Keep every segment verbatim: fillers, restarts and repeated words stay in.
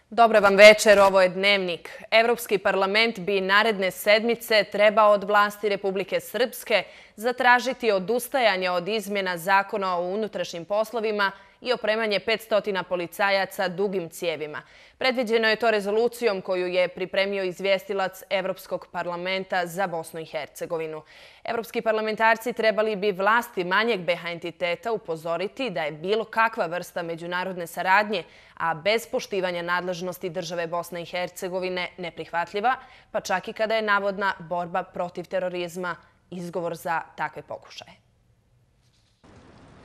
Dobar vam večer, ovo je Dnevnik. Evropski parlament bi naredne sedmice trebao od vlasti Republike Srpske zatražiti odustajanje od izmjena zakona o unutrašnjim poslovima i opremanje petsto policajaca dugim cijevima. Predviđeno je to rezolucijom koju je pripremio izvjestilac Evropskog parlamenta za Bosnu i Hercegovinu. Evropski parlamentarci trebali bi vlasti manjeg B H entiteta upozoriti da je bilo kakva vrsta međunarodne saradnje, a bez poštivanja nadležnosti države Bosne i Hercegovine neprihvatljiva, pa čak i kada je navodna borba protiv terorizma izgovor za takve pokušaje.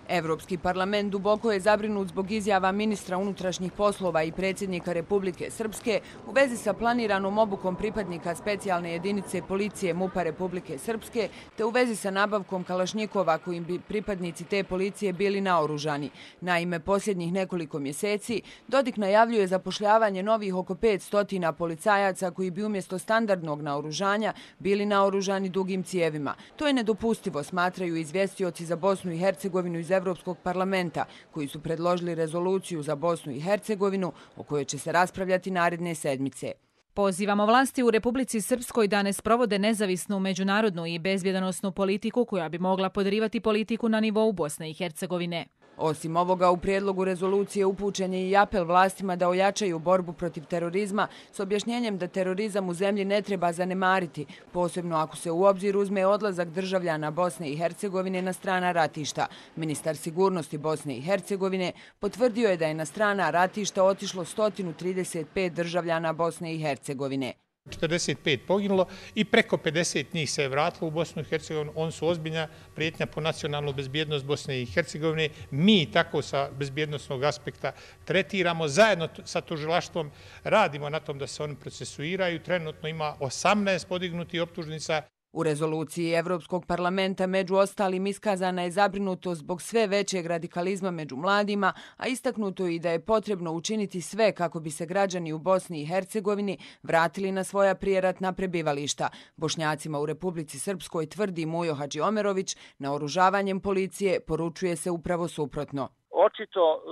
Evropski parlament duboko je zabrinut zbog izjava ministra unutrašnjih poslova i predsjednika Republike Srpske u vezi sa planiranom obukom pripadnika specijalne jedinice policije MUP-a Republike Srpske te u vezi sa nabavkom kalašnjikova kojim bi pripadnici te policije bili naoružani. Naime, posljednjih nekoliko mjeseci Dodik najavljuje zapošljavanje novih oko petsto policajaca koji bi umjesto standardnog naoružanja bili naoružani dugim cijevima. To je nedopustivo, smatraju izvjestioci za Bosnu i Hercegovinu iz Evropskog parlamenta, koji su predložili rezoluciju za Bosnu i Hercegovinu o kojoj će se raspravljati naredne sedmice. Pozivamo vlasti u Republici Srpskoj da ne sprovode nezavisnu međunarodnu i bezbjedonosnu politiku koja bi mogla podrivati politiku na nivou Bosne i Hercegovine. Osim ovoga, u prijedlogu rezolucije upućen je i apel vlastima da ojačaju borbu protiv terorizma s objašnjenjem da terorizam u zemlji ne treba zanemariti, posebno ako se u obzir uzme odlazak državljana Bosne i Hercegovine na strana ratišta. Ministar sigurnosti Bosne i Hercegovine potvrdio je da je na strana ratišta otišlo sto trideset pet državljana Bosne i Hercegovine. četrdeset pet poginulo i preko pedeset njih se je vratilo u Bosnu i Hercegovinu. Oni su ozbiljna prijetnja po nacionalnu bezbjednost Bosne i Hercegovine. Mi tako sa bezbjednostnog aspekta tretiramo. Zajedno sa tužilaštvom radimo na tom da se oni procesuiraju. Trenutno ima osamnaest podignutih optužnica. U rezoluciji Evropskog parlamenta među ostalim iskazana je zabrinutost zbog sve većeg radikalizma među mladima, a istaknuto je i da je potrebno učiniti sve kako bi se građani u Bosni i Hercegovini vratili na svoja prijeratna prebivališta. Bošnjacima u Republici Srpskoj, tvrdi Mujo Hadžiomerović, naoružavanjem policije poručuje se upravo suprotno. Očito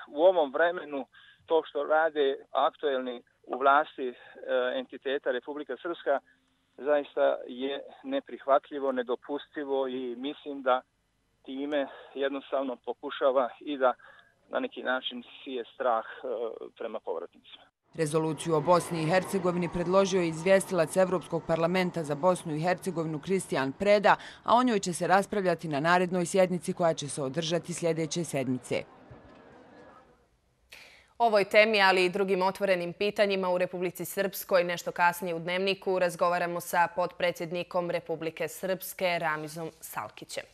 u ovom vremenu to što rade aktuelni u vlasti entiteta Republika Srpska zaista je neprihvatljivo, nedopustivo i mislim da time jednostavno pokušava i da na neki način sije strah prema povratnicima. Rezoluciju o Bosni i Hercegovini predložio je izvjestilac Evropskog parlamenta za Bosnu i Hercegovinu Kristijan Preda, a o njoj će se raspravljati na narednoj sjednici koja će se održati sljedeće sedmice. Ovoj temi, ali i drugim otvorenim pitanjima u Republici Srpskoj nešto kasnije u Dnevniku razgovaramo sa potpredsjednikom Republike Srpske Ramizom Salkićem.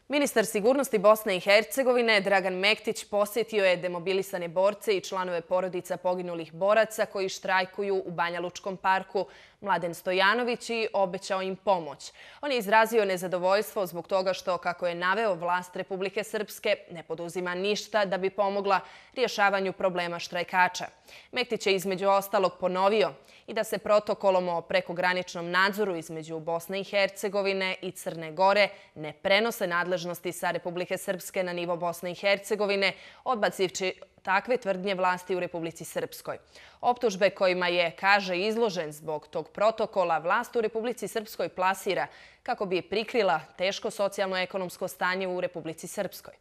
Ministar sigurnosti Bosne i Hercegovine Dragan Mektić posjetio je demobilisane borce i članove porodica poginulih boraca koji štrajkuju u Banja Lučkom parku Mladen Stojanović i obećao im pomoć. On je izrazio nezadovoljstvo zbog toga što, kako je naveo, vlast Republike Srpske ne poduzima ništa da bi pomogla rješavanju problema štrajkača. Mektić je između ostalog ponovio i da se protokolom o prekograničnom nadzoru između Bosne i Hercegovine i Crne Gore ne prenose nadležnosti sa Republike Srpske na nivo Bosne i Hercegovine, odbacivši takve tvrdnje vlasti u Republici Srpskoj. Optužbe kojima je, kaže, izložen zbog tog protokola, vlast u Republici Srpskoj plasira kako bi prikrila teško socijalno-ekonomsko stanje u Republici Srpskoj.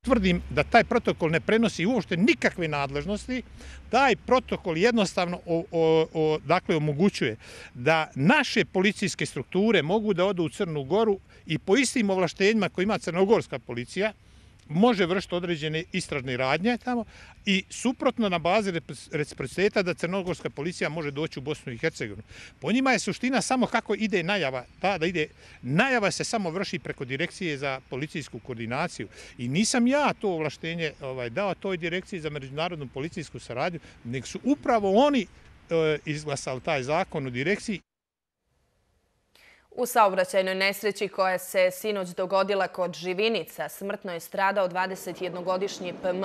Tvrdim da taj protokol ne prenosi uopšte nikakve nadležnosti. Taj protokol jednostavno o, o, o, dakle, omogućuje da naše policijske strukture mogu da odu u Crnu Goru i po istim ovlaštenjima koje ima crnogorska policija može vršiti određene istražne radnje tamo i suprotno na bazi reciprociteta da crnogorska policija može doći u Bosnu i Hercegovinu. Po njima je suština samo kako ide najava. Ta da ide, najava se samo vrši preko direkcije za policijsku koordinaciju i nisam ja to ovlaštenje ovaj, dao toj direkciji za međunarodnu policijsku saradnju, nego su upravo oni e, izglasali taj zakon u direkciji. U saobraćajnoj nesreći koja se sinoć dogodila kod Živinica smrtno je stradao dvadesetjednogodišnji P M.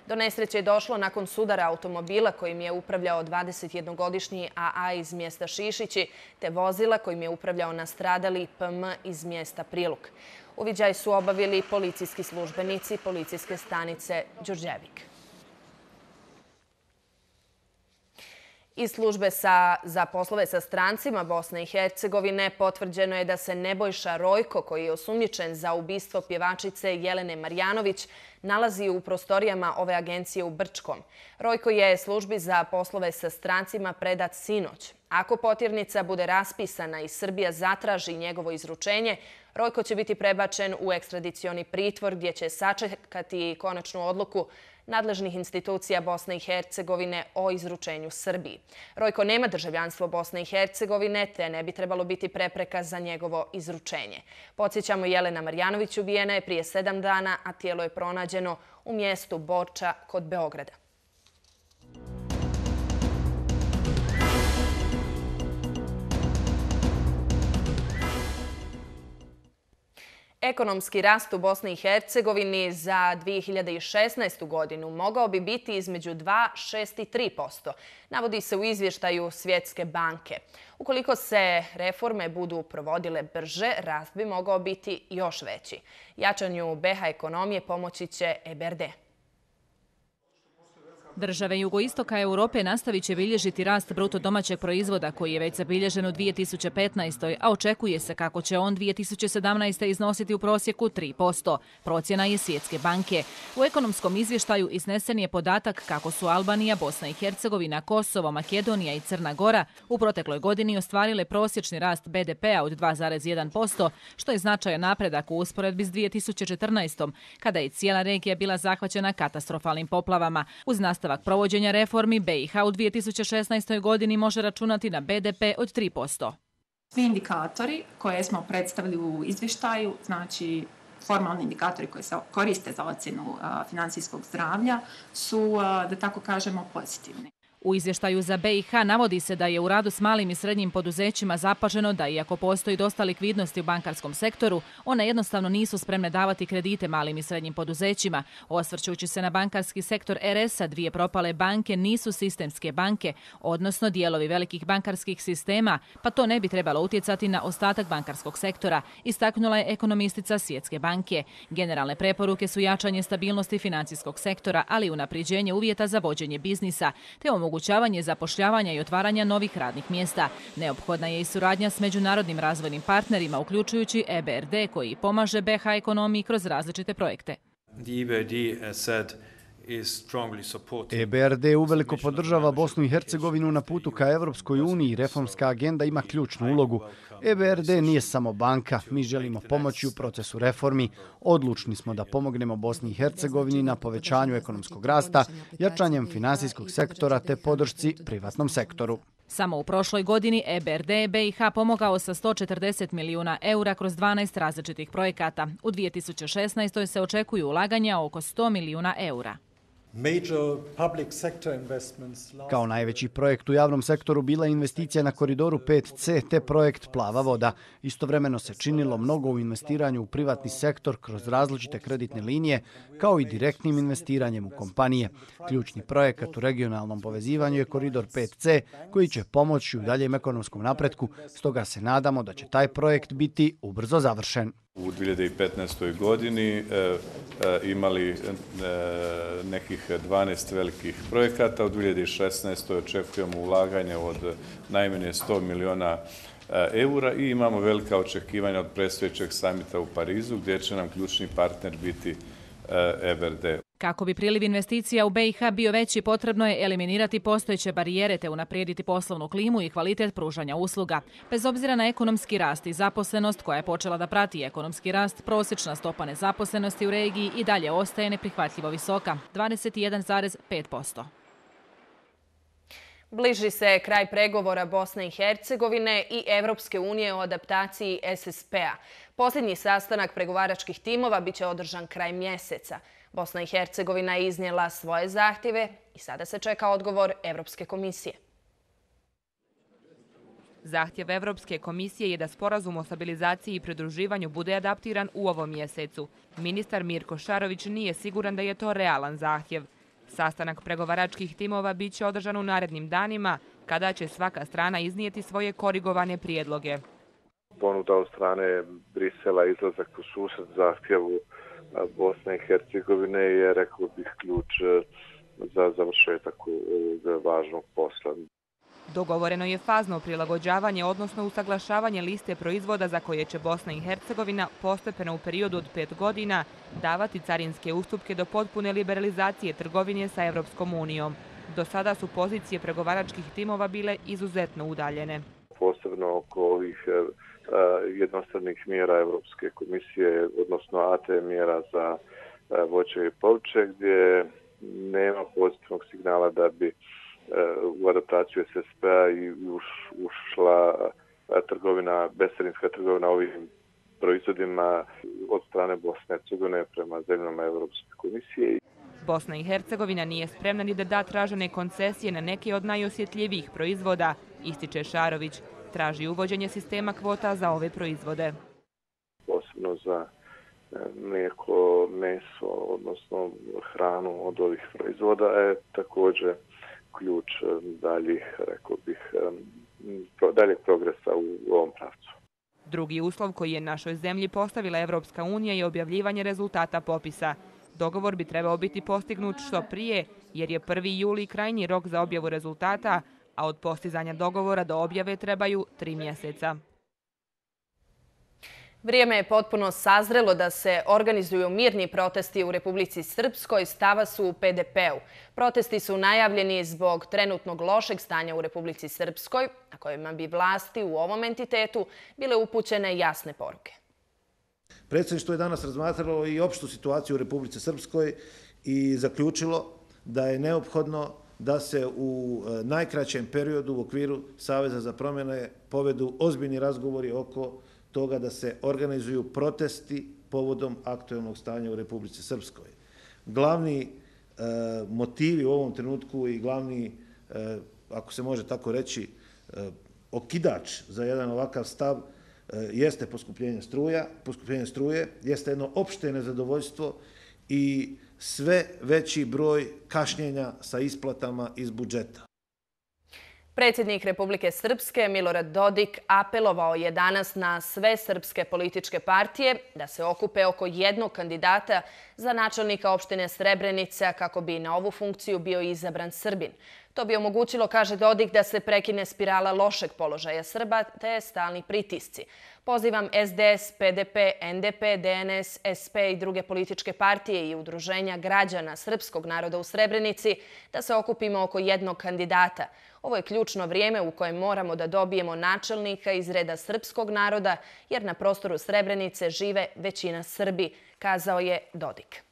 Do nesreće je došlo nakon sudara automobila kojim je upravljao dvadesetjednogodišnji A A iz mjesta Šišići, te vozila kojim je upravljao nastradali P M iz mjesta Priluk. Uviđaj su obavili policijski službenici policijske stanice Đurđevik. Iz službe sa, za poslove sa strancima Bosne i Hercegovine potvrđeno je da se Nebojša Rojko, koji je osumnjičen za ubistvo pjevačice Jelene Marjanović, nalazi u prostorijama ove agencije u Brčkom. Rojko je službi za poslove sa strancima predat sinoć. Ako potjernica bude raspisana i Srbija zatraži njegovo izručenje, Rojko će biti prebačen u ekstradicioni pritvor gdje će sačekati konačnu odluku nadležnih institucija Bosne i Hercegovine o izručenju Srbiji. Rojko nema državljanstvo Bosne i Hercegovine, te ne bi trebalo biti prepreka za njegovo izručenje. Podsjećamo, Jelena Marjanović ubijena je prije sedam dana, a tijelo je pronađeno u mjestu Borča kod Beograda. Ekonomski rast u Bosni i Hercegovini za dvije hiljade šesnaestu. godinu mogao bi biti između dva, šest i tri posto, navodi se u izvještaju Svjetske banke. Ukoliko se reforme budu provodile brže, rast bi mogao biti još veći. Jačanju B iH ekonomije pomoći će E B R D. Države jugoistoka Europe nastavit će bilježiti rast bruto domaćeg proizvoda koji je već zabilježen u dvije tisuće petnaestoj. a očekuje se kako će on dvije tisuće sedamnaeste. iznositi u prosjeku tri posto. Procjena je Svjetske banke. U ekonomskom izvještaju iznesen je podatak kako su Albanija, Bosna i Hercegovina, Kosovo, Makedonija i Crna Gora u protekloj godini ostvarile prosječni rast B D P-a od dva zarez jedan posto, što je značajan napredak u usporedbi s dvije tisuće četrnaestom. kada je cijela regija bila zahvaćena katastrofalnim poplavama. Uz nastavak provođenja reformi, B iH u dvije tisuće šesnaestoj. godini može računati na B D P od tri posto. Svi indikatori koje smo predstavili u izvještaju, znači formalni indikatori koji se koriste za ocjenu financijskog zdravlja, su, da tako kažemo, pozitivni. U izvještaju za B iH navodi se da je u radu s malim i srednjim poduzećima zapaženo da iako postoji dosta likvidnosti u bankarskom sektoru, one jednostavno nisu spremne davati kredite malim i srednjim poduzećima. Osvrćući se na bankarski sektor R S-a, dvije propale banke nisu sistemske banke, odnosno dijelovi velikih bankarskih sistema, pa to ne bi trebalo utjecati na ostatak bankarskog sektora, istaknula je ekonomistica Svjetske banke. Generalne preporuke su jačanje stabilnosti financijskog sektora, ali i unapređenje uvjeta za vođenje biznisa, te omogućavanje zapošljavanja i otvaranja novih radnih mjesta. Neophodna je i suradnja s međunarodnim razvojnim partnerima, uključujući E B R D, koji pomaže B iH ekonomiji kroz različite projekte. E B R D uveliko podržava Bosnu i Hercegovinu na putu ka Evropskoj uniji. Reformska agenda ima ključnu ulogu. E B R D nije samo banka. Mi želimo pomoći u procesu reformi. Odlučni smo da pomognemo Bosni i Hercegovini na povećanju ekonomskog rasta, jačanjem finansijskog sektora te podršci privatnom sektoru. Samo u prošloj godini E B R D B iH pomogao sa sto četrdeset milijuna eura kroz dvanaest različitih projekata. U dvije tisuće šesnaestoj. se očekuju ulaganja oko sto milijuna eura. Kao najveći projekt u javnom sektoru bila je investicija na koridoru pet C te projekt Plava voda. Istovremeno se činilo mnogo u investiranju u privatni sektor kroz različite kreditne linije, kao i direktnim investiranjem u kompanije. Ključni projekat u regionalnom povezivanju je koridor pet C, koji će pomoći u daljem ekonomskom napretku, stoga se nadamo da će taj projekt biti ubrzo završen. U dvije hiljade petnaestoj. godini e, e, imali e, nekih dvanaest velikih projekata. U dvije hiljade šesnaestoj. očekujemo ulaganje od najmanje sto milijuna eura i imamo velika očekivanja od predstojećeg samita u Parizu, gdje će nam ključni partner biti E B R D. Kako bi priliv investicija u B iH bio veći, potrebno je eliminirati postojeće barijere te unaprijediti poslovnu klimu i kvalitet pružanja usluga. Bez obzira na ekonomski rast i zaposlenost koja je počela da prati ekonomski rast, prosječna stopa nezaposlenosti u regiji i dalje ostaje neprihvatljivo visoka, dvadeset jedan zarez pet posto. Bliži se kraj pregovora Bosne i Hercegovine i Evropske unije o adaptaciji S S P-a. Posljednji sastanak pregovaračkih timova biće održan kraj mjeseca. Bosna i Hercegovina je iznijela svoje zahtjeve i sada se čeka odgovor Evropske komisije. Zahtjev Evropske komisije je da sporazum o stabilizaciji i pridruživanju bude adaptiran u ovom mjesecu. Ministar Mirko Šarović nije siguran da je to realan zahtjev. Sastanak pregovaračkih timova bit će održan u narednim danima, kada će svaka strana iznijeti svoje korigovane prijedloge. Ponuda od strane Brisela izlazak u susret zahtjevu Bosne i Hercegovine je, rekao bih, ključ za završetak ovog važnog posla. Dogovoreno je fazno prilagođavanje, odnosno usaglašavanje liste proizvoda za koje će Bosna i Hercegovina postepeno u periodu od pet godina davati carinske ustupke do potpune liberalizacije trgovine sa Evropskom unijom. Do sada su pozicije pregovaračkih timova bile izuzetno udaljene. Posebno oko ovih jednostavnih mjera Evropske komisije, odnosno A T mjera za voće i povrće, gdje nema pozitivnog signala da bi u adaptaciju S S P-a i ušla trgovina, bescarinska trgovina ovim proizvodima od strane Bosne i Hercegovine prema zemljama Evropske komisije. Bosna i Hercegovina nije spremna ni da da tražene koncesije na neke od najosjetljivijih proizvoda, ističe Šarović. Traži uvođenje sistema kvota za ove proizvode. Posebno za mlijeko, meso, odnosno hranu od ovih proizvoda je također ključ daljih, rekao bih, daljeg progresa u ovom pravcu. Drugi uslov koji je našoj zemlji postavila Evropska unija je objavljivanje rezultata popisa. Dogovor bi trebao biti postignut što prije, jer je prvi juli krajnji rok za objavu rezultata, a od postizanja dogovora do objave trebaju tri mjeseca. Vrijeme je potpuno sazrelo da se organizuju mirni protesti u Republici Srpskoj, stava su u P D P-u. Protesti su najavljeni zbog trenutnog lošeg stanja u Republici Srpskoj, na kojima bi vlasti u ovom entitetu bile upućene jasne poruke. Predsjedništvo je danas razmatralo i opštu situaciju u Republici Srpskoj i zaključilo da je neophodno da se u najkraćem periodu u okviru Saveza za promjene povedu ozbiljni razgovori oko toga da se organizuju protesti povodom aktualnog stanja u Republici Srpskoj. Glavni e, motivi u ovom trenutku i glavni, e, ako se može tako reći, e, okidač za jedan ovakav stav e, jeste poskupljenje struja, poskupljenje struje, jeste jedno opšte nezadovoljstvo i sve veći broj kašnjenja sa isplatama iz budžeta. Predsjednik Republike Srpske Milorad Dodik apelovao je danas na sve srpske političke partije da se okupe oko jednog kandidata za načelnika opštine Srebrenica kako bi na ovu funkciju bio izabran Srbin. To bi omogućilo, kaže Dodik, da se prekine spirala lošeg položaja Srba te stalni pritisci. Pozivam S D S, P D P, N D P, D N S, S P i druge političke partije i udruženja građana srpskog naroda u Srebrenici da se okupimo oko jednog kandidata. Ovo je ključno vrijeme u kojem moramo da dobijemo načelnika iz reda srpskog naroda, jer na prostoru Srebrenice žive većina Srbi, kazao je Dodik.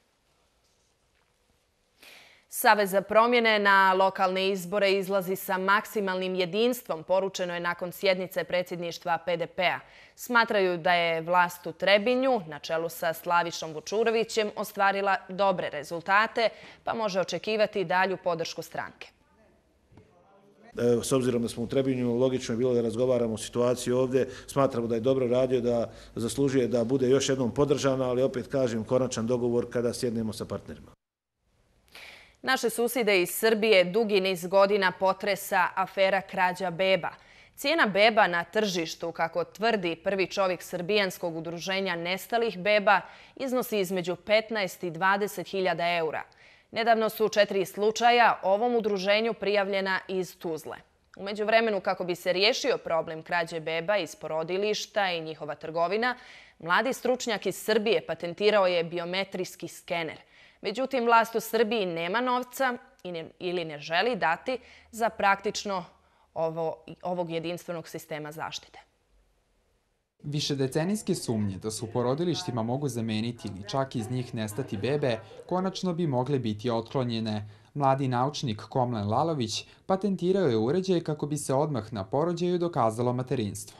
Savez za promjene na lokalne izbore izlazi sa maksimalnim jedinstvom, poručeno je nakon sjednice predsjedništva P D P-a. Smatraju da je vlast u Trebinju, na čelu sa Slavišom Vučurovićem, ostvarila dobre rezultate, pa može očekivati dalju podršku stranke. S obzirom da smo u Trebinju, logično je bilo da razgovaramo o situaciji ovdje. Smatramo da je dobro radio, da zaslužuje da bude još jednom podržana, ali opet kažem konačan dogovor kada sjednemo sa partnerima. Naše susjede iz Srbije dugi niz godina potresa afera krađa beba. Cijena beba na tržištu, kako tvrdi prvi čovjek srbijanskog udruženja nestalih beba, iznosi između petnaest i dvadeset hiljada eura. Nedavno su četiri slučaja ovom udruženju prijavljena iz Tuzle. U međuvremenu, kako bi se riješio problem krađe beba iz porodilišta i njihova trgovina, mladi stručnjak iz Srbije patentirao je biometrijski skener. Međutim, vlast u Srbiji nema novca ili ne želi dati za praktično ovo, ovog jedinstvenog sistema zaštite. Višedecenijske sumnje da se u porodilištima mogu zameniti ili čak iz njih nestati bebe, konačno bi mogle biti otklonjene. Mladi naučnik Komlen Lalović patentirao je uređaj kako bi se odmah na porođaju dokazalo materinstvo.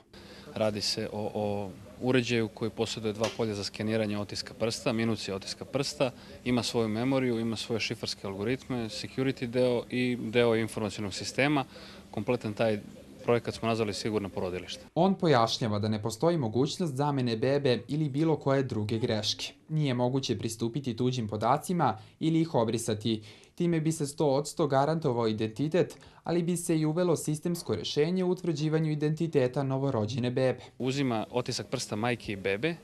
Radi se o, o uređaju koji posjeduje dva polja za skeniranje otiska prsta, minucije otiska prsta, ima svoju memoriju, ima svoje šifarske algoritme, security deo i deo informacionog sistema. Kompletan taj projekat smo nazvali sigurno porodilište. On pojašnjava da ne postoji mogućnost zamene bebe ili bilo koje druge greške. Nije moguće pristupiti tuđim podacima ili ih obrisati. Time bi se sto posto garantovao identitet, ali bi se i uvelo sistemsko rješenje u utvrđivanju identiteta novorođene bebe. Uzima otisak prsta majke i bebe,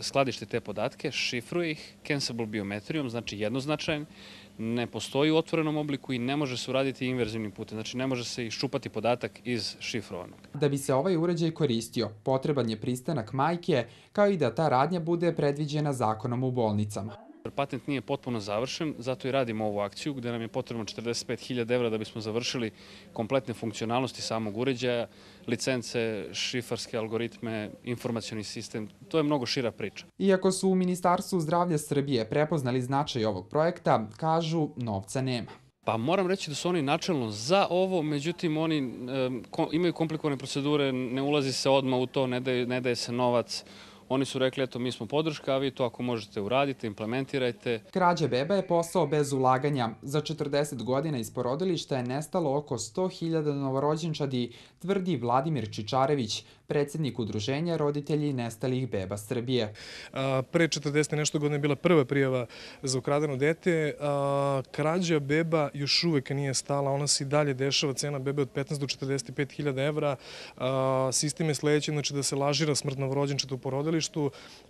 skladišti te podatke, šifruje ih cancelable biometrijom, znači jednoznačajan, ne postoji u otvorenom obliku i ne može se uraditi inverzivnim putem, znači ne može se iščupati podatak iz šifrovanog. Da bi se ovaj uređaj koristio, potreban je pristanak majke, kao i da ta radnja bude predviđena zakonom u bolnicama. Patent nije potpuno završen, zato i radimo ovu akciju gde nam je potrebno četrdeset pet hiljada evra da bismo završili kompletne funkcionalnosti samog uređaja, licence, šifarske algoritme, informacioni sistem. To je mnogo šira priča. Iako su u Ministarstvu zdravlja Srbije prepoznali značaj ovog projekta, kažu novca nema. Pa moram reći da su oni načelno za ovo, međutim oni e, ko, imaju komplikovane procedure, ne ulazi se odmah u to, ne daje, ne daje se novac. Oni su rekli, eto, mi smo podrška, a vi to ako možete uradite, implementirajte. Krađa beba je posao bez ulaganja. Za četrdeset godina iz porodilišta je nestalo oko sto hiljada novorođenčadi, tvrdi Vladimir Čičarević, predsjednik udruženja roditelji nestalih beba Srbije. A, pre četrdeset nešto godina je bila prva prijava za ukradeno dete. A, krađa beba još uvek nije stala. Ona se i dalje dešava, cena bebe od petnaest do četrdeset pet hiljada evra. A, sistem je sledeći, znači da se lažira smrt novorođenčeta u porodilištu.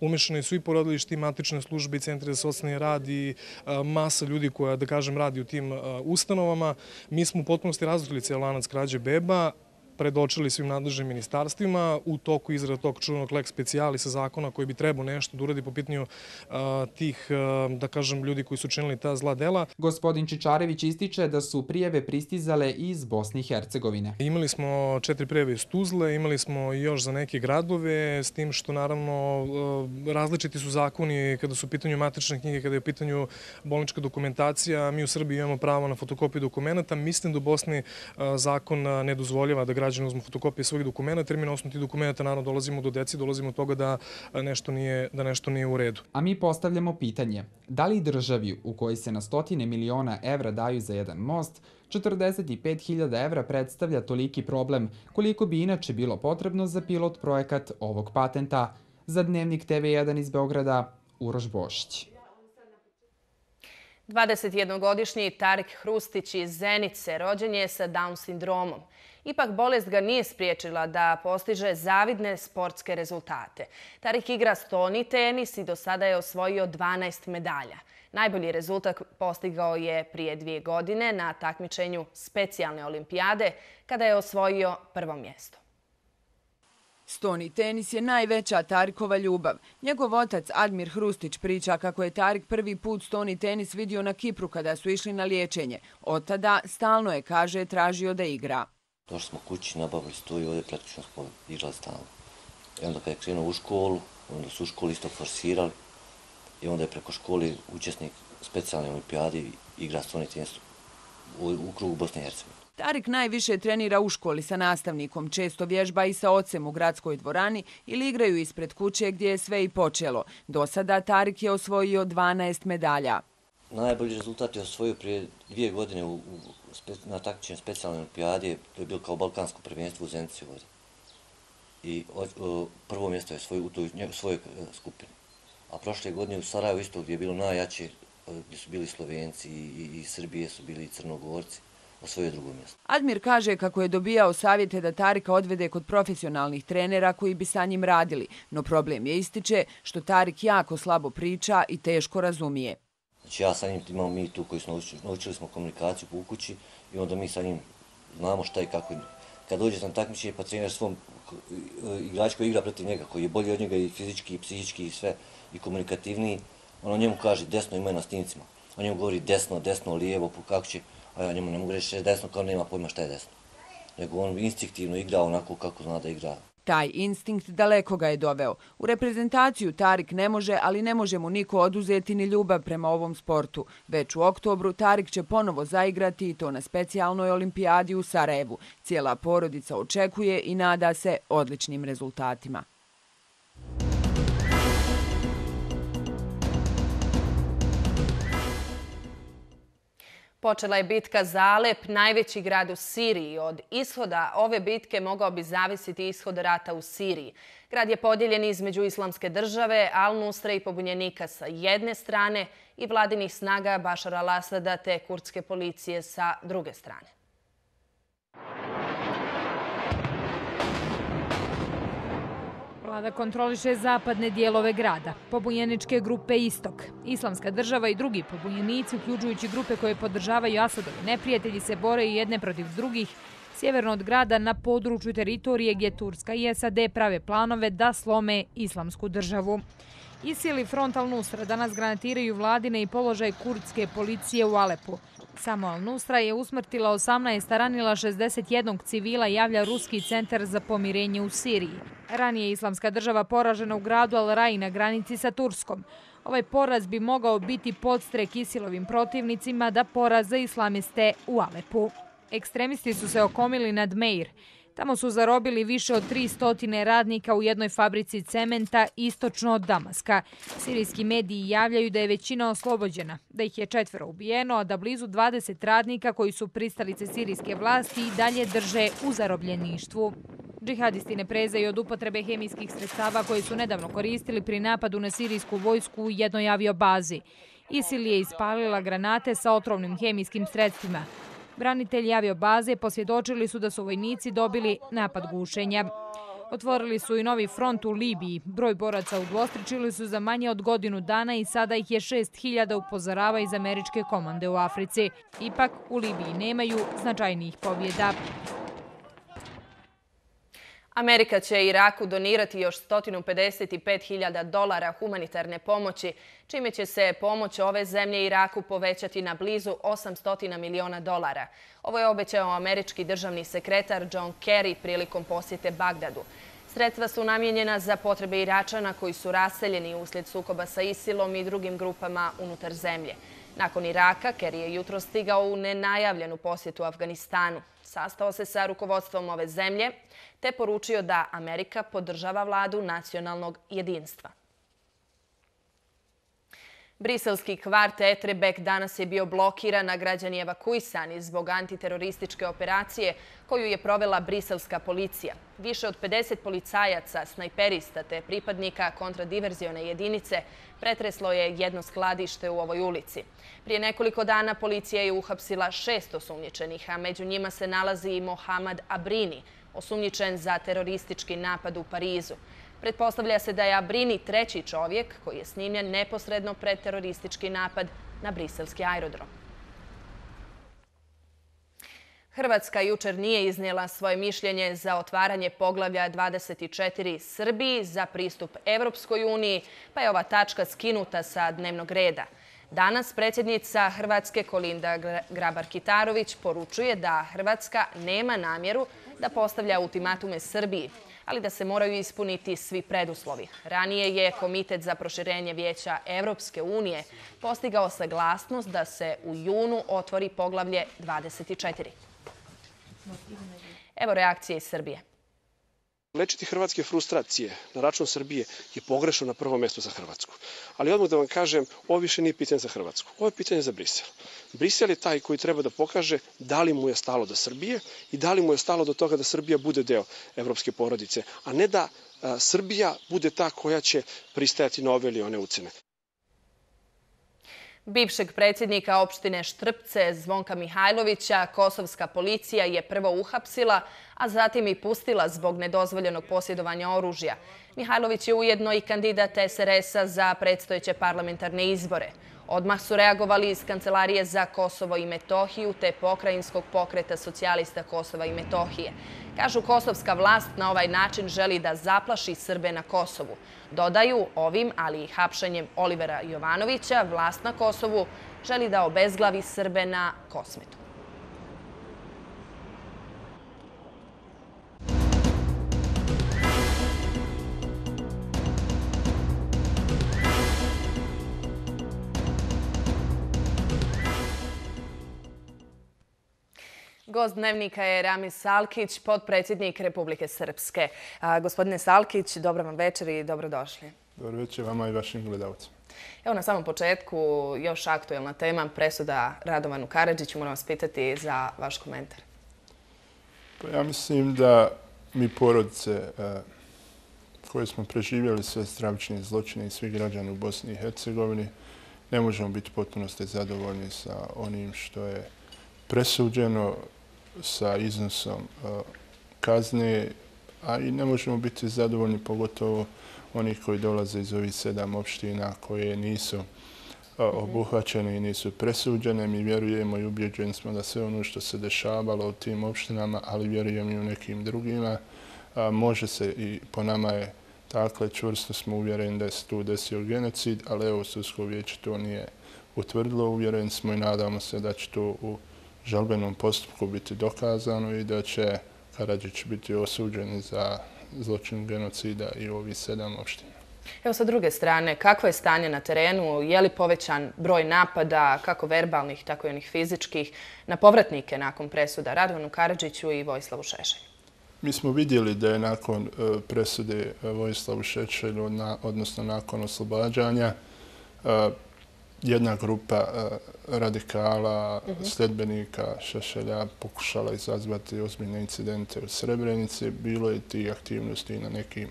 Umešani su i porodilišti, i matične službe, i centri za socijalni rad i a, masa ljudi koja, da kažem, radi u tim a, ustanovama. Mi smo u potpunosti razotkrili cijel lanac krađe beba, predočili svim nadležnim ministarstvima u toku izrade tog čuvenog lex specialisa zakona koji bi trebao nešto da uradi po pitanju a, tih, a, da kažem, ljudi koji su činili ta zla dela. Gospodin Čičarević ističe da su prijave pristizale iz Bosne i Hercegovine. Imali smo četiri prijave iz Tuzle, imali smo i još za neke gradove, s tim što naravno različiti su zakoni kada su u pitanju matične knjige, kada je u pitanju bolnička dokumentacija. Mi u Srbiji imamo pravo na fotokopiju dokumenta. Mislim da u Bosni zakon ne dozvoljava da građani uzmu fotokopije svojih dokumenta, jer mi na osnovu tih dokumenta naravno dolazimo do deci, dolazimo do toga da nešto nije, da nešto nije u redu. A mi postavljamo pitanje, da li državi u kojoj se na stotine miliona evra daju za jedan most, četrdeset pet hiljada evra predstavlja toliki problem koliko bi inače bilo potrebno za pilot projekat ovog patenta? Za Dnevnik te ve jedan iz Beograda, Uroš Bošić. dvadesetjednogodišnji Tarik Hrustić iz Zenice rođen je sa Down sindromom. Ipak bolest ga nije spriječila da postiže zavidne sportske rezultate. Tarik igra stoni tenis i do sada je osvojio dvanaest medalja. Najbolji rezultat postigao je prije dvije godine na takmičenju specijalne olimpijade kada je osvojio prvo mjesto. Stoni tenis je najveća Tarikova ljubav. Njegov otac Admir Hrustić priča kako je Tarik prvi put stoni tenis vidio na Kipru kada su išli na liječenje. Od tada stalno je, kaže, tražio da igra. Došli smo kući, nabavili stoji, ovdje praktično smo igrali stalno. I onda kad je krenuo u školu, onda su u školi isto forsirali i onda je preko škole učesnik specijalne olimpijade igra stoni tenis u, u krugu Bosne i Hercegovine. Tarik najviše trenira u školi sa nastavnikom, često vježba i sa ocem u gradskoj dvorani ili igraju ispred kuće gdje je sve i počelo. Do sada Tarik je osvojio dvanaest medalja. Najbolji rezultat je osvojio prije dvije godine u, u, na takmičenju specijalne olimpijade, to je bilo kao balkansko prvenstvo u Zenici ovdje. I o, o, prvo mjesto je osvojio u toj svojoj skupini. A prošle godine u Sarajevu isto gdje je bilo najjače, gdje su bili Slovenci i, i, i Srbije su bili i Crnogorci, osvojio drugo mjesto. Admir kaže kako je dobijao savjete da Tarika odvede kod profesionalnih trenera koji bi sa njim radili, no problem je, ističe, što Tarik jako slabo priča i teško razumije. Znači ja sa njim imamo mi tu koji smo naučili, naučili smo komunikaciju po kući i onda mi sa njim znamo šta i kako. Kad dođe na takmičenje pa trener svom igrač koji igra protiv njega, koji je bolji od njega i fizički i psihički i sve i komunikativniji, ono njemu kaže desno, ima je na snimcima. On njemu govori desno, desno, lijevo, kako će, a ja njemu ne mogu reći desno kao nema pojma šta je desno. Nego on instinktivno igra onako kako zna da igra. Taj instinkt daleko ga je doveo. U reprezentaciju Tarik ne može, ali ne može mu niko oduzeti ni ljubav prema ovom sportu. Već u oktobru Tarik će ponovo zaigrati i to na specijalnoj olimpijadi u Sarajevu. Cijela porodica očekuje i nada se odličnim rezultatima. Počela je bitka za Alep, najveći grad u Siriji. Od ishoda ove bitke mogao bi zavisiti ishod rata u Siriji. Grad je podijeljen između Islamske države, Al-Nusre i pobunjenika sa jedne strane i vladinih snaga Bašara al-Asada te kurdske policije sa druge strane. Vlada kontroliše zapadne dijelove grada, pobunjeničke grupe Istok. Islamska država i drugi pobunjenici, uključujući grupe koje podržavaju Asadovi neprijatelji, se bore i jedne protiv drugih sjeverno od grada na području teritorije gdje Turska i S A D prave planove da slome Islamsku državu. ISIL i Front al-Nusra danas granatiraju vladine i položaj kurdske policije u Alepu. Samo al-Nusra je usmrtila osamnaest, a ranila šezdeset jednog civila, javlja Ruski centar za pomirenje u Siriji. Ranije je Islamska država poražena u gradu Al-Rai na granici sa Turskom. Ovaj poraz bi mogao biti podstrek ISIL-ovim protivnicima da poraze islamiste u Alepu. Ekstremisti su se okomili nad Meir. Tamo su zarobili više od tristo radnika u jednoj fabrici cementa istočno od Damaska. Sirijski mediji javljaju da je većina oslobođena, da ih je četvero ubijeno, a da blizu dvadeset radnika koji su pristalice sirijske vlasti i dalje drže u zarobljeništvu. Džihadisti ne prezaju od upotrebe hemijskih sredstava koje su nedavno koristili pri napadu na sirijsku vojsku u jednoj aviobazi. ISIL je ispalila granate sa otrovnim hemijskim sredstvima. Branitelji aviobaze posvjedočili su da su vojnici dobili napad gušenja. Otvorili su i novi front u Libiji. Broj boraca udvostručili su za manje od godinu dana i sada ih je šest hiljada, upozorava iz američke komande u Africi. Ipak u Libiji nemaju značajnijih pobjeda. Amerika će Iraku donirati još sto pedeset pet hiljada dolara humanitarne pomoći, čime će se pomoć ove zemlje Iraku povećati na blizu osamsto miliona dolara. Ovo je obećao američki državni sekretar John Kerry prilikom posjete Bagdadu. Sredstva su namijenjena za potrebe Iračana koji su raseljeni uslijed sukoba sa ISIL-om i drugim grupama unutar zemlje. Nakon Iraka, Kerry je jutro stigao u nenajavljenu posjetu Afganistanu. Sastao se sa rukovodstvom ove zemlje te poručio da Amerika podržava vladu nacionalnog jedinstva. Briselski kvart Etrebek danas je bio blokiran, a građani evakuisani zbog antiterorističke operacije koju je provela briselska policija. Više od pedeset policajaca, snajperista te pripadnika kontradiverzione jedinice pretreslo je jedno skladište u ovoj ulici. Prije nekoliko dana policija je uhapsila šest osumnjičenih, a među njima se nalazi i Mohamed Abrini, osumnjičen za teroristički napad u Parizu. Pretpostavlja se da je Abrini treći čovjek koji je snimljen neposredno pred teroristički napad na briselski aerodrom. Hrvatska jučer nije iznijela svoje mišljenje za otvaranje poglavlja dvadeset četiri Srbiji za pristup Evropskoj uniji, pa je ova tačka skinuta sa dnevnog reda. Danas predsjednica Hrvatske Kolinda Grabar-Kitarović poručuje da Hrvatska nema namjeru da postavlja ultimatume Srbiji, ali da se moraju ispuniti svi preduslovi. Ranije je Komitet za proširenje Vijeća Evropske unije postigao saglasnost da se u junu otvori poglavlje dvadeset četiri. Evo reakcije iz Srbije. Lečiti hrvatske frustracije na račun Srbije je pogrešno na prvo mjesto za Hrvatsku. Ali odmah da vam kažem, ovo više nije pitanje za Hrvatsku. Ovo je pitanje za Brisel. Brisel je taj koji treba da pokaže da li mu je stalo do Srbije i da li mu je stalo do toga da Srbija bude deo evropske porodice, a ne da a, Srbija bude ta koja će pristajati na ove ili one ucene. Bivšeg predsjednika opštine Štrpce Zvonka Mihajlovića kosovska policija je prvo uhapsila, a zatim i pustila zbog nedozvoljenog posjedovanja oružja. Mihajlović je ujedno i kandidat S R S-a za predstojeće parlamentarne izbore. Odmah su reagovali iz Kancelarije za Kosovo i Metohiju te Pokrajinskog pokreta socijalista Kosova i Metohije. Kažu, kosovska vlast na ovaj način želi da zaplaši Srbe na Kosovu. Dodaju, ovim, ali i hapšanjem Olivera Jovanovića, vlast na Kosovu želi da obezglavi Srbe na Kosmetu. Gost dnevnika je Ramis Salkić, potpredsjednik Republike Srpske. A, gospodine Salkić, dobro vam večer i dobrodošli. Dobro večer vama i vašim gledalcima. Evo na samom početku još aktuelna tema, presuda Radovanu Karadžiću. Moram vas pitati za vaš komentar. Pa ja mislim da mi porodice koje smo preživjeli sve stravične zločine i svi građani u Bosni i Hercegovini ne možemo biti potpunosti zadovoljni sa onim što je presuđeno, sa iznosom kazne, a i ne možemo biti zadovoljni, pogotovo onih koji dolaze iz ovih sedam opština koje nisu obuhvaćene i nisu presuđene. Mi vjerujemo i ubjeđeni smo da sve ono što se dešavalo u tim opštinama, ali vjerujem i u nekim drugima, može se i po nama je, dakle, čvrsto smo uvjereni da se tu desio genocid, ali evo, sudsko vijeće to nije utvrdilo. Uvjereni smo i nadamo se da će to u žalbenom postupku biti dokazano i da će Karadžić biti osuđen za zločin genocida i u ovih sedam opština. Evo sa druge strane, kakvo je stanje na terenu? Je li povećan broj napada, kako verbalnih, tako i onih fizičkih, na povratnike nakon presuda Radovanu Karadžiću i Vojislavu Šešelju? Mi smo vidjeli da je nakon presude Vojislavu Šešelju, odnosno nakon oslobađanja, jedna grupa radikala, sledbenika Šešelja pokušala izazvati ozbiljne incidente u Srebrenici. Bilo je tih aktivnosti na nekim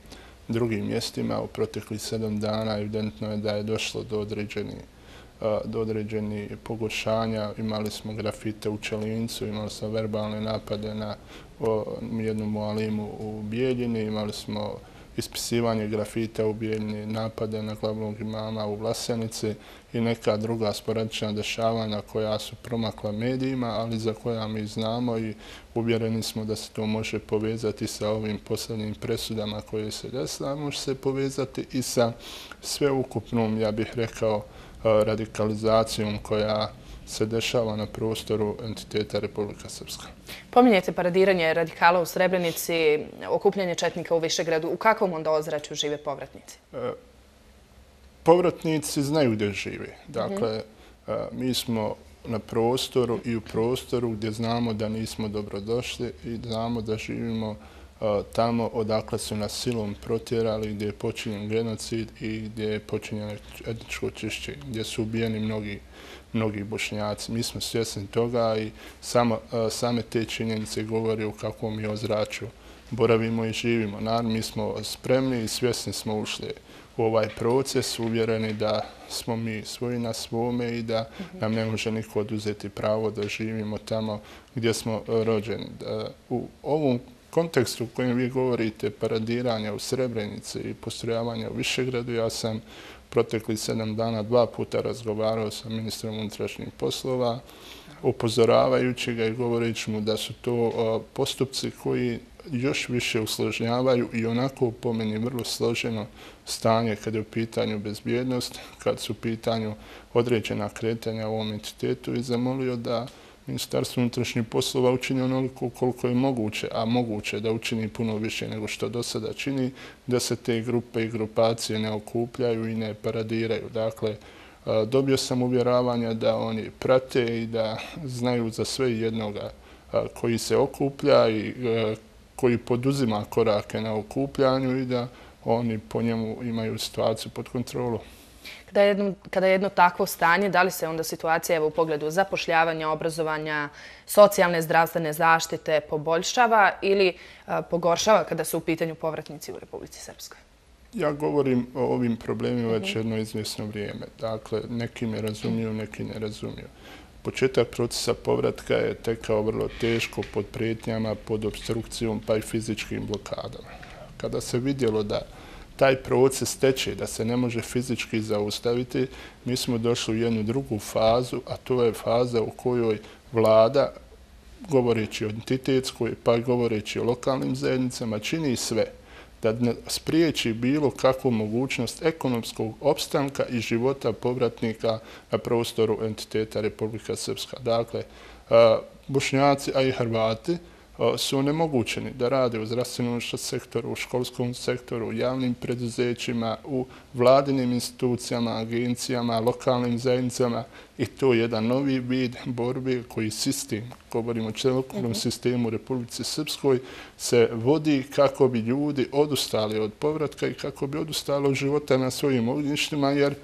drugim mjestima. U proteklih sedam dana evidentno je da je došlo do određenih do određenih pogoršanja. Imali smo grafite u Čelincu, imali smo verbalne napade na jednu mualimu u Bijeljini, imali smo ispisivanje grafita u Bijeljini, napade na glavnog imama u Vlasenici i neka druga sporadična dešavanja koja su promakla medijima, ali za koja mi znamo i uvjereni smo da se to može povezati sa ovim posljednjim presudama koje se desila, može se povezati i sa sveukupnom, ja bih rekao, radikalizacijom koja se dešava na prostoru entiteta Republika Srpska. Pominjete paradiranje radikala u Srebrenici, okupljanje četnika u Višegradu. U kakvom onda ozračju žive povratnici? Povratnici znaju gdje žive. Dakle, mi smo na prostoru i u prostoru gdje znamo da nismo dobrodošli i znamo da živimo tamo odakle su nas silom protjerali, gdje je počinjen genocid i gdje je počinjeno etničko čišćenje, gdje su ubijeni mnogi mnogi Bošnjaci. Mi smo svjesni toga i same te činjenice govori o kakvom mi ozračju boravimo i živimo. Naravno, mi smo spremni i svjesni smo ušli u ovaj proces, uvjereni da smo mi svoji na svome i da nam ne može niko oduzeti pravo da živimo tamo gdje smo rođeni. U ovom kontekstu u kojem vi govorite, paradiranja u Srebrenici i postrojavanja u Višegradu, ja sam proteklih sedam dana dva puta razgovarao sa ministrom unutrašnjih poslova, upozoravajući ga i govoreći mu da su to postupci koji još više usložnjavaju i onako po meni vrlo složeno stanje kada je u pitanju bezbjednost, kad su u pitanju određena kretanja u ovom entitetu i zamolio da Ministarstvo unutrašnjih poslova učini onoliko koliko je moguće, a moguće da učini puno više nego što do sada čini, da se te grupe i grupacije ne okupljaju i ne paradiraju. Dakle, dobio sam uvjeravanja da oni prate i da znaju za sve jednoga koji se okuplja i koji poduzima korake na okupljanju i da oni po njemu imaju situaciju pod kontrolom. Kada je jedno, kada je jedno takvo stanje, da li se onda situacija evo, u pogledu zapošljavanja, obrazovanja, socijalne, zdravstvene zaštite poboljšava ili a, pogoršava kada su u pitanju povratnici u Republici Srpskoj? Ja govorim o ovim problemima već jedno izvjesno vrijeme. Dakle, neki me razumiju, neki ne razumiju. Početak procesa povratka je tekao vrlo teško pod prijetnjama, pod obstrukcijom pa i fizičkim blokadama. Kada se vidjelo da taj proces teče, da se ne može fizički zaustaviti, mi smo došli u jednu drugu fazu, a to je faza u kojoj vlada, govoreći o entitetskoj, pa govoreći o lokalnim zajednicama, čini sve da spriječi bilo kakvu mogućnost ekonomskog opstanka i života povratnika na prostoru entiteta Republika Srpska. Dakle, Bošnjaci, a i Hrvati, su onemogućeni da rade u zdravstvenom sektoru, u školskom sektoru, u javnim preduzećima, u vladinim institucijama, agencijama, lokalnim zajednicama i to je jedan novi vid borbe koji sistem, govorimo o celokupnom sistemu u Republici Srpskoj, se vodi kako bi ljudi odustali od povratka i kako bi odustali od života na svojim ognjištima, jer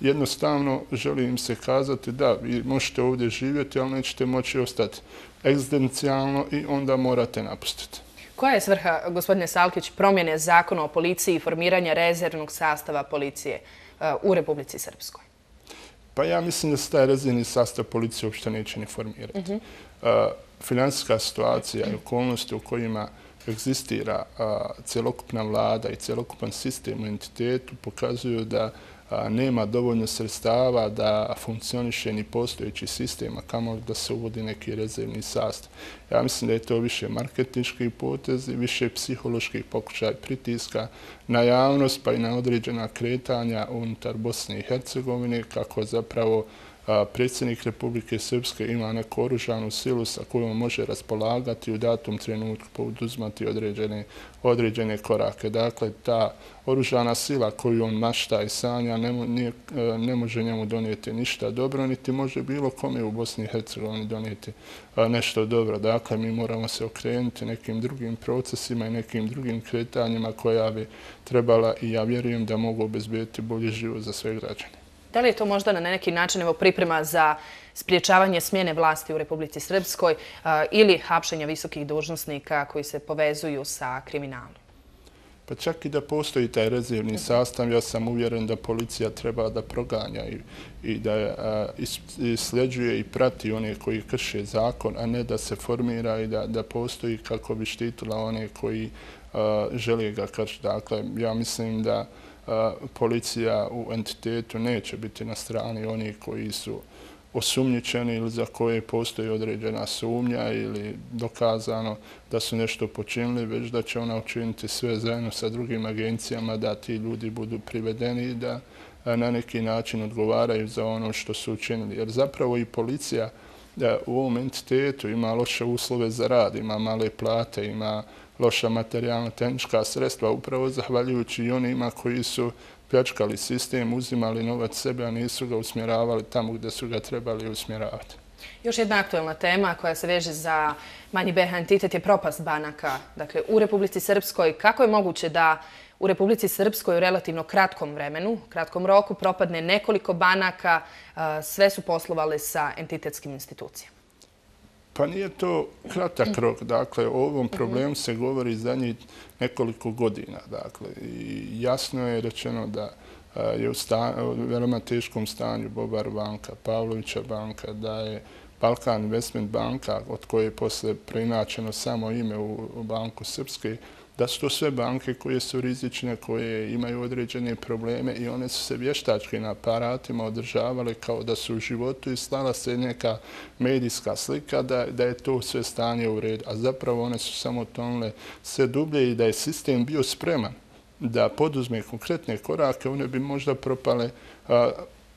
jednostavno želim se kazati da vi možete ovdje živjeti, ali nećete moći ostati egzistencijalno i onda morate napustiti. Koja je svrha, gospodine Salkić, promjene zakona o policiji i formiranja rezervnog sastava policije u Republici Srpskoj? Pa ja mislim da se taj rezervni sastav policije uopšte neće ni formirati. Finansijska situacija i okolnosti u kojima egzistira cjelokupna vlada i cjelokupan sistem u entitetu pokazuju da nema dovoljno sredstava da funkcioniše ni postojeći sistem, a kamoli da se uvodi neki rezervni sastav. Ja mislim da je to više marketinški potez i više psiholoških pokušaj pritiska na javnost pa i na određena kretanja unutar Bosne i Hercegovine, kako zapravo predsjednik Republike Srpske ima neku oružanu silu sa kojom može raspolagati u datom trenutku poduzimati određene, određene korake. Dakle, ta oružana sila koju on mašta i sanja ne, ne, ne može njemu donijeti ništa dobro, niti može bilo kome u Bosni i Hercegovini donijeti nešto dobro. Dakle, mi moramo se okrenuti nekim drugim procesima i nekim drugim kretanjima koja bi trebala, i ja vjerujem da mogu obezbediti bolji život za sve građane. Da li je to možda na neki način evo, priprema za spriječavanje smjene vlasti u Republici Srpskoj a, ili hapšenja visokih dužnosnika koji se povezuju sa kriminalom? Pa čak i da postoji taj rezervni sastav, ja sam uvjeren da policija treba da proganja i, i da a, sljeđuje i prati one koji krše zakon, a ne da se formira i da, da postoji kako bi štitila one koji a, žele ga kršiti. Dakle, ja mislim da policija u entitetu neće biti na strani onih koji su osumnjičeni ili za koje postoji određena sumnja ili dokazano da su nešto počinili, već da će ona učiniti sve zajedno sa drugim agencijama da ti ljudi budu privedeni i da na neki način odgovaraju za ono što su učinili. Jer zapravo i policija u ovom entitetu ima loše uslove za rad, ima male plate, ima loša materijalna tehnička sredstva, upravo zahvaljujući i onima koji su pljačkali sistem, uzimali novac sebe, a nisu ga usmjeravali tamo gdje su ga trebali usmjeravati. Još jedna aktuelna tema koja se veže za manji B H entitet je propast banaka. Dakle, u Republici Srpskoj, kako je moguće da u Republici Srpskoj u relativno kratkom vremenu, kratkom roku, propadne nekoliko banaka, sve su poslovale sa entitetskim institucijama? Pa nije to kratak rok. Dakle, o ovom problemu se govori zadnjih nekoliko godina. Dakle, i jasno je rečeno da je u, sta, u veoma teškom stanju Bobar banka, Pavlovića banka, da je Balkan Investment banka, od koje je posle preinačeno samo ime u, u Banku Srpske, da su to sve banke koje su rizične, koje imaju određene probleme i one su se vještačkim aparatima održavale kao da su u životu i slala se neka medijska slika da, da je to sve stanje u redu. A zapravo one su samo tonule sve dublje i da je sistem bio spreman da poduzme konkretne korake, one bi možda propale a,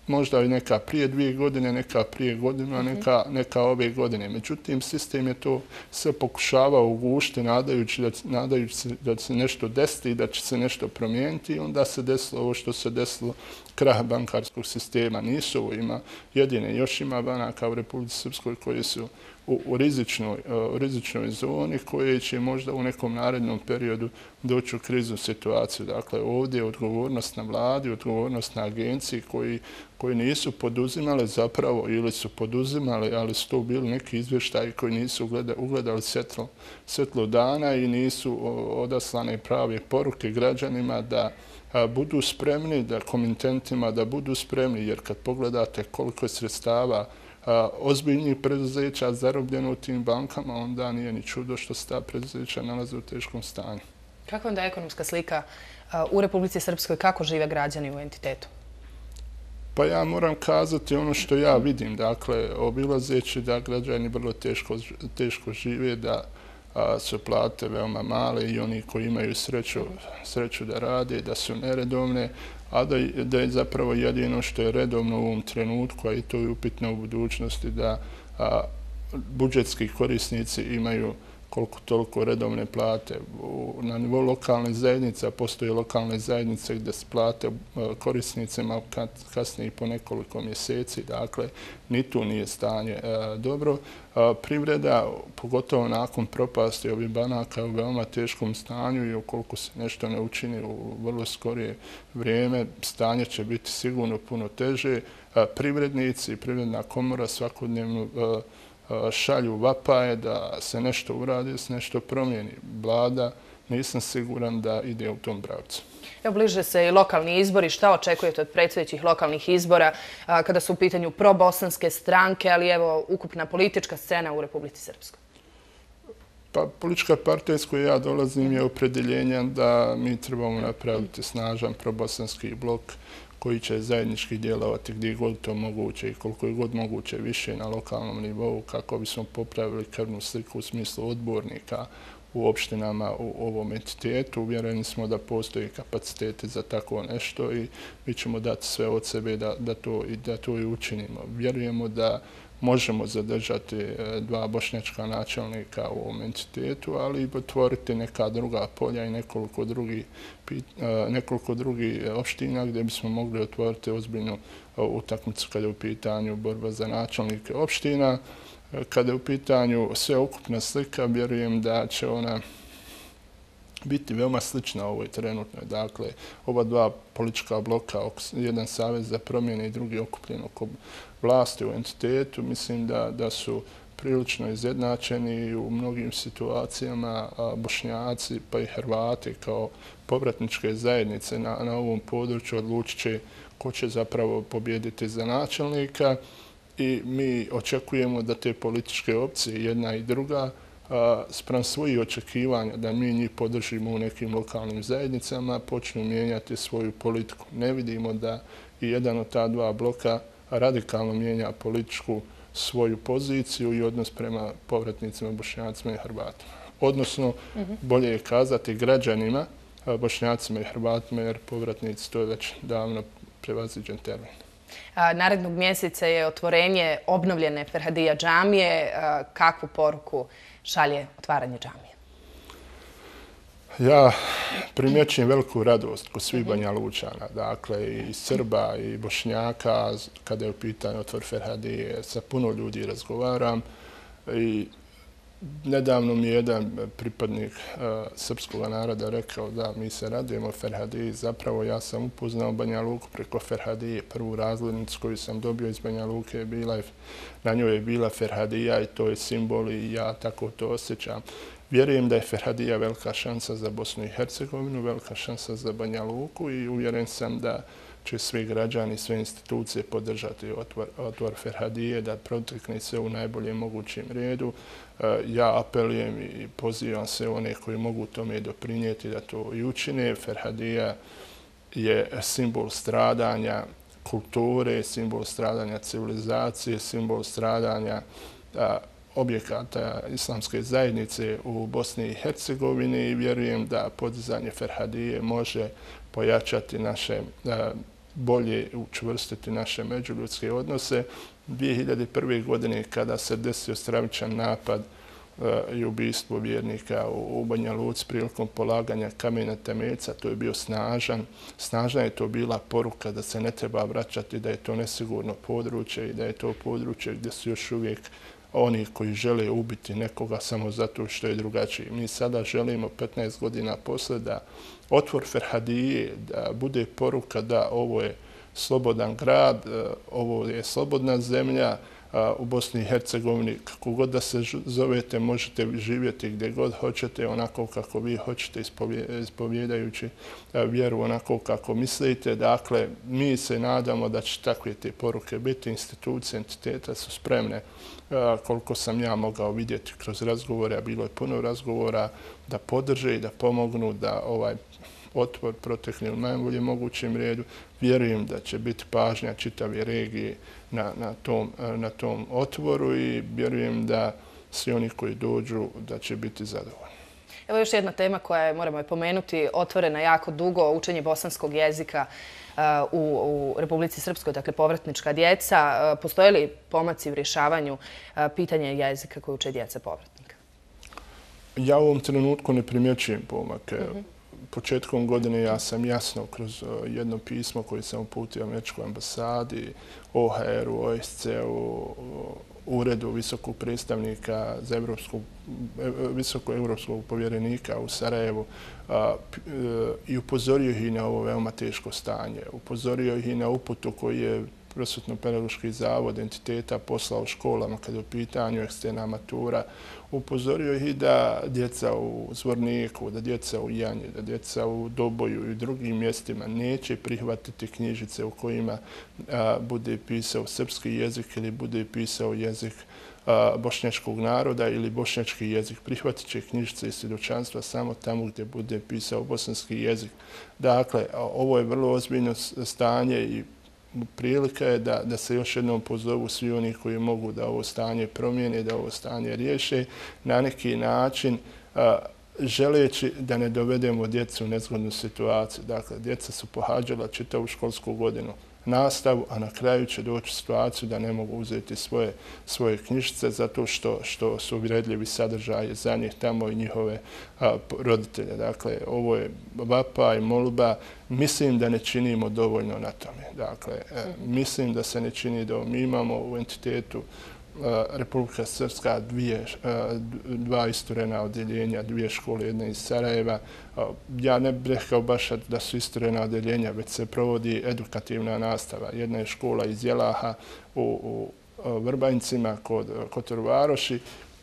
možda i neka prije dvije godine, neka prije godinu, a neka, neka ove godine. Međutim, sistem je to sve pokušavao ugušiti, nadajući da, nadajući se da će se nešto desiti i da će se nešto promijeniti i onda se desilo ovo što se desilo, krah bankarskog sistema. Nisu ovo ima jedine, još ima banaka u Republici Srpskoj koje su u, u, rizičnoj, u rizičnoj zoni koje će možda u nekom narednom periodu doći u kriznu situaciju. Dakle, ovdje je odgovornost na vladi, odgovornost na agenciji koji, koji nisu poduzimali zapravo ili su poduzimali, ali su to bili neki izvještaji koji nisu ugledali, ugledali svjetlo, svjetlo dana i nisu odaslane prave poruke građanima da a, budu spremni, da komitentima da budu spremni, jer kad pogledate koliko je sredstava a, ozbiljnih preduzeća zarobljeno u tim bankama, onda nije ni čudo što se ta preduzeća nalaze u teškom stanju. Kakva onda je ekonomska slika a, u Republici Srpskoj, kako žive građani u entitetu? Pa ja moram kazati ono što ja vidim, dakle, obilazeći da građani vrlo teško, teško žive, da a, su plate veoma male i oni koji imaju sreću, sreću da rade, da su neredovne, a da, da je zapravo jedino što je redovno u ovom trenutku, a i to je upitno u budućnosti, da a, budžetski korisnici imaju koliko toliko redovne plate. Na nivou lokalne zajednice, postoje lokalne zajednice gdje se plate korisnicima kasnije po nekoliko mjeseci. Dakle, ni tu nije stanje dobro. Privreda, pogotovo nakon propasti ovih banaka, u veoma teškom stanju i ukoliko se nešto ne učini u vrlo skorije vrijeme, stanje će biti sigurno puno teže. Privrednici i Privredna komora svakodnevno šalju vapaje da se nešto uradi, da se nešto promijeni. Vlada, nisam siguran da ide u tom pravcu. Evo, bliže se i lokalni izbori. Šta očekujete od predstojećih lokalnih izbora a, kada su u pitanju probosanske stranke, ali evo ukupna politička scena u Republici Srpskoj? Pa politička partija s koje ja dolazim je opredeljenja da mi trebamo napraviti snažan probosanski blok koji će zajednički djelovati gdje god to moguće i koliko je god moguće više na lokalnom nivou kako bismo popravili krvnu sliku u smislu odbornika u opštinama u ovom entitetu. Uvjereni smo da postoji kapaciteti za tako nešto i mi ćemo dati sve od sebe da, da, to, da to i učinimo. Vjerujemo da možemo zadržati dva bošnjačka načelnika u ovom entitetu, ali i otvoriti neka druga polja i nekoliko drugih nekoliko drugih opština gdje bismo mogli otvoriti ozbiljnu utakmicu kada je u pitanju borba za načelnike opština. Kada je u pitanju sveukupna slika, vjerujem da će ona biti veoma slična ovoj trenutnoj. Dakle, oba dva politička bloka, jedan savez za promjene i drugi okupljen oko vlasti u entitetu, mislim da, da su prilično izjednačeni i u mnogim situacijama Bošnjaci pa i Hrvati kao povratničke zajednice na, na ovom području odlučit će ko će zapravo pobijediti za načelnika i mi očekujemo da te političke opcije, jedna i druga, spram svojih očekivanja da mi njih podržimo u nekim lokalnim zajednicama, počnu mijenjati svoju politiku. Ne vidimo da i jedan od ta dva bloka radikalno mijenja političku svoju poziciju i odnos prema povratnicima, Bošnjacima i Hrvatima. Odnosno, bolje je kazati građanima, Bošnjacima i Hrvatima, jer povratnici to je već davno prevaziđen termin. Narednog mjeseca je otvorenje obnovljene Ferhadija džamije. Kakvu poruku šalje otvaranje džamije? Ja primjećujem veliku radost kod svih Banja Lučana, dakle i Srba i Bošnjaka, kada je u pitanju otvor Ferhadije, sa puno ljudi razgovaram i nedavno mi je jedan pripadnik uh, srpskog naroda rekao da mi se radujemo Ferhadiji. Zapravo ja sam upoznao Banja Luku preko Ferhadije. Prvu razglednicu koju sam dobio iz Banja Luke, bila, na njoj je bila Ferhadija i to je simbol i ja tako to osjećam. Vjerujem da je Ferhadija velika šansa za Bosnu i Hercegovinu, velika šansa za Banja Luku i uvjeren sam da će svi građani i sve institucije podržati otvor, otvor Ferhadije, da protekne sve u najboljem mogućem redu. Ja apelujem i pozivam sve one koji mogu tome doprinijeti da to i učine. Ferhadija je simbol stradanja kulture, simbol stradanja civilizacije, simbol stradanja objekata islamske zajednice u Bosni i Hercegovini i vjerujem da podizanje Ferhadije može pojačati naše, bolje učvrstiti naše međuljudske odnose. dvije hiljade prve. godine kada se desio stravičan napad i ubistvo vjernika u Banja Luci prilikom polaganja kamena temeljca, to je bio snažan. Snažna je to bila poruka da se ne treba vraćati, da je to nesigurno područje i da je to područje gdje su još uvijek oni koji žele ubiti nekoga samo zato što je drugačiji. Mi sada želimo petnaest godina posle da otvor Ferhadije, da bude poruka da ovo je slobodan grad, ovo je slobodna zemlja u Bosni i Hercegovini. Kako god da se zovete, možete živjeti gdje god hoćete, onako kako vi hoćete, ispovjedajući vjeru onako kako mislite. Dakle, mi se nadamo da će takve te poruke biti. Institucije, entiteta su spremne, koliko sam ja mogao vidjeti kroz razgovore, a bilo je puno razgovora, da podrže i da pomognu da ovaj otvor protekne u najboljem mogućem redu. Vjerujem da će biti pažnja čitave regije na, na, tom, na tom otvoru i vjerujem da svi oni koji dođu da će biti zadovoljni. Evo još jedna tema koja je, moramo je pomenuti, otvorena jako dugo, učenje bosanskog jezika u, u Republici Srpskoj, dakle povratnička djeca. Postoje li pomaci u rješavanju pitanja jezika koje uče djeca povratnika? Ja u ovom trenutku ne primjećujem pomake. Mm-hmm. Početkom godine ja sam jasno kroz jedno pismo koje sam uputio Američkoj ambasadi, O H R-u, O S C-u, Uredu visokog predstavnika za evropskog, visokog evropskog povjerenika u Sarajevu a, i upozorio ih i na ovo veoma teško stanje. Upozorio ih i na uputu koji je Prosvetno-pedagoški zavod entiteta poslao školama kada je u pitanju eksterna matura. Upozorio ih i da djeca u Zvorniku, da djeca u Janji, da djeca u Doboju i drugim mjestima neće prihvatiti knjižice u kojima a, bude pisao srpski jezik ili bude pisao jezik bošnjačkog naroda ili bošnjački jezik. Prihvatit će knjižice i svjedočanstva samo tamo gdje bude pisao bosanski jezik. Dakle, ovo je vrlo ozbiljno stanje i prilika je da, da se još jednom pozovu svi oni koji mogu da ovo stanje promijene, da ovo stanje riješe na neki način, a, želeći da ne dovedemo djecu u nezgodnu situaciju. Dakle, djeca su pohađala čitavu školsku godinu nastavu, a na kraju će doći situaciju da ne mogu uzeti svoje, svoje knjižice zato što, što su uvredljivi sadržaji za njih tamo i njihove a, roditelje. Dakle, ovo je vapa i molba. Mislim da ne činimo dovoljno na tome. Dakle, e, mislim da se ne čini dovoljno. Mi imamo u entitetu Republika Srpska dvije, dva isturena odjeljenja, dvije škole, jedna iz Sarajeva. Ja ne bih rekao baš da su isturena odjeljenja, već se provodi edukativna nastava. Jedna je škola iz Jelaha u, u Vrbanjcima kod Kotor Varoši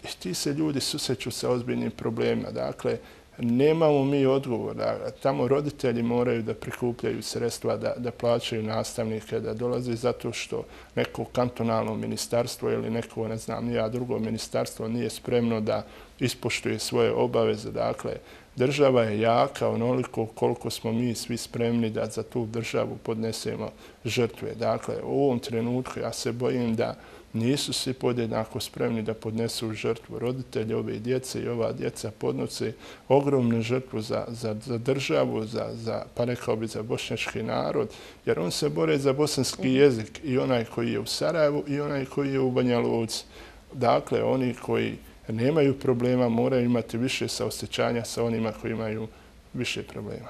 i ti se ljudi susreću sa ozbiljnim problemima. Dakle, nemamo mi odgovor. Tamo roditelji moraju da prikupljaju sredstva, da, da plaćaju nastavnike, da dolaze zato što neko kantonalno ministarstvo ili neko, ne znam, nija drugo ministarstvo nije spremno da ispoštuje svoje obaveze. Dakle, država je jaka onoliko koliko smo mi svi spremni da za tu državu podnesemo žrtve. Dakle, u ovom trenutku ja se bojim da nisu svi podjednako spremni da podnesu žrtvu. Roditelji ove djece i ova djeca podnose ogromnu žrtvu za, za, za državu, za, za, pa rekao bi za bošnjački narod, jer on se bore za bosanski jezik i onaj koji je u Sarajevu i onaj koji je u Banja Luci. Dakle, oni koji nemaju problema moraju imati više saosjećanja sa onima koji imaju više problema.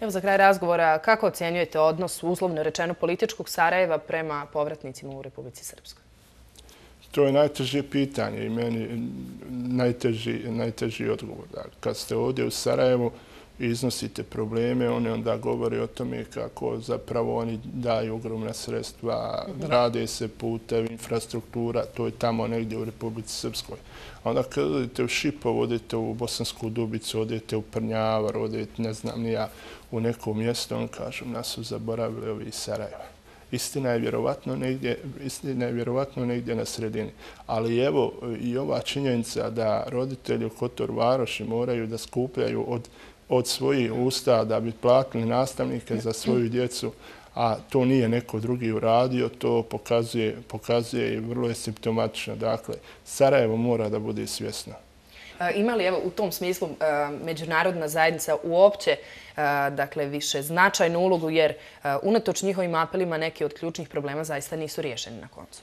Evo za kraj razgovora, kako ocjenjujete odnos uslovno rečeno političkog Sarajeva prema povratnicima u Republici Srpskoj? To je najteže pitanje i meni najteži, najteži odgovor. Kad ste ovdje u Sarajevu i iznosite probleme, oni onda govore o tome kako zapravo oni daju ogromna sredstva, rade se putevi, infrastruktura, to je tamo negdje u Republici Srpskoj. Onda kad odete u Šipov, odete u Bosansku Dubicu, odete u Prnjavar, odete, ne znam, nija u neko mjesto, on kažu, nas su zaboravili ovi iz Sarajeva. Istina je vjerovatno negdje, istina je vjerovatno negdje na sredini. Ali evo i ova činjenica da roditelji u Kotor Varoši moraju da skupljaju od, od svojih usta da bi platili nastavnike za svoju djecu, a to nije neko drugi uradio, to pokazuje, pokazuje i vrlo je simptomatično. Dakle, Sarajevo mora da bude svjesno. Ima li evo, u tom smislu međunarodna zajednica uopće dakle, više značajnu ulogu, jer unatoč njihovim apelima neki od ključnih problema zaista nisu riješeni na koncu?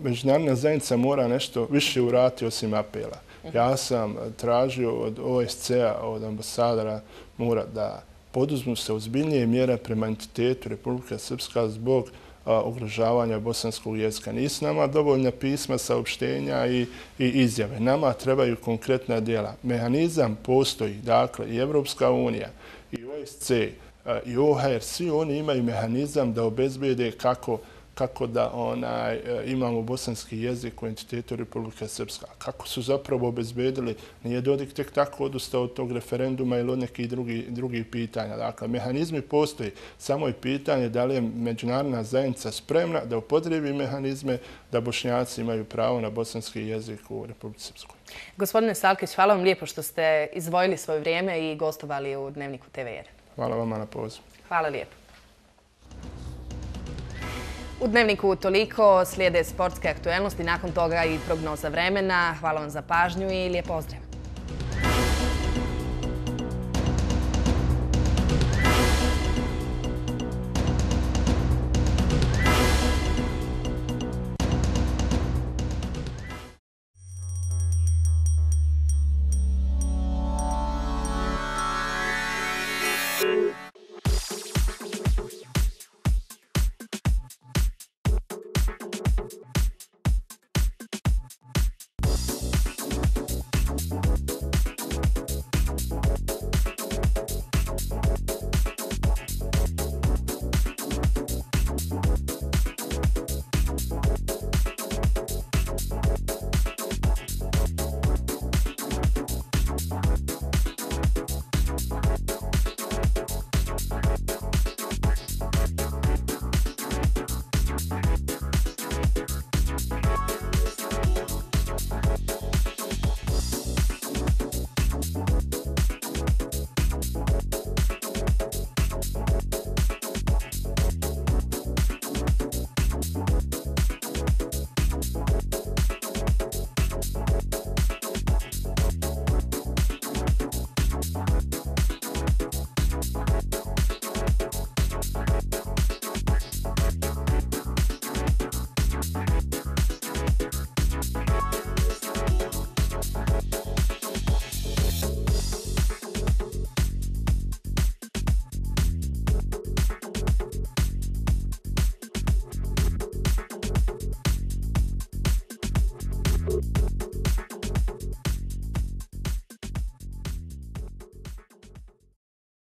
Međunarodna zajednica mora nešto više uraditi osim apela. Ja sam tražio od O S C-a, od ambasadora, mora da poduzmu se ozbiljnije mjere prema entitetu Republika Srpska zbog ugrožavanja bosanskog jezika. Nisu nama dovoljna pisma, saopštenja i, i izjave. Nama trebaju konkretna djela. Mehanizam postoji, dakle, i Evropska unija, i O S C, i O H R, svi oni imaju mehanizam da obezbijede kako kako da onaj, imamo bosanski jezik u entitetu Republika Srpska. Kako su zapravo obezbedili, nije Dodik tek tako odustao od tog referenduma ili od nekih drugih drugi pitanja. Dakle, mehanizmi postoji, samo je pitanje da li je međunarodna zajednica spremna da upotrebi mehanizme da Bošnjaci imaju pravo na bosanski jezik u Republici Srpskoj. Gospodine Salkić, hvala vam lijepo što ste izdvojili svoje vrijeme i gostovali u Dnevniku T V jedan. Hvala vama na pozivu. Hvala lijepo. U Dnevniku toliko, slijede sportske aktuelnosti, nakon toga i prognoza vremena. Hvala vam za pažnju i lijep pozdrav.